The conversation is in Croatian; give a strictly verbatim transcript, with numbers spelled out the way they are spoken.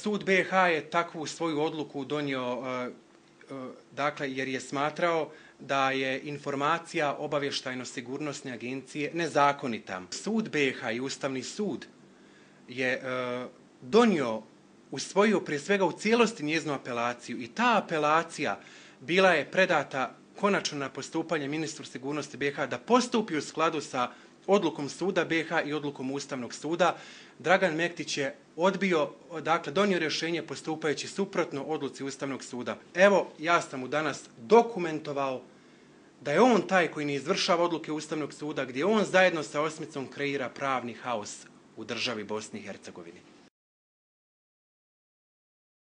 sud B iH je takvu svoju odluku donio, dakle, jer je smatrao da je informacija obavještajno-sigurnosne agencije nezakonita. Sud B iH i Ustavni sud je donio, usvojio prije svega u cijelosti njezinu apelaciju i ta apelacija bila je predata konačno na postupanje ministru sigurnosti B iH da postupi u skladu sa odlukom suda B iH i odlukom Ustavnog suda. Dragan Mektić je odbio, dakle donio rješenje postupajući suprotno odluci Ustavnog suda. Evo, ja sam mu danas dokumentovao da je on taj koji ne izvršava odluke Ustavnog suda, gdje on zajedno sa osmicom kreira pravni haos u državi Bosni i Hercegovini.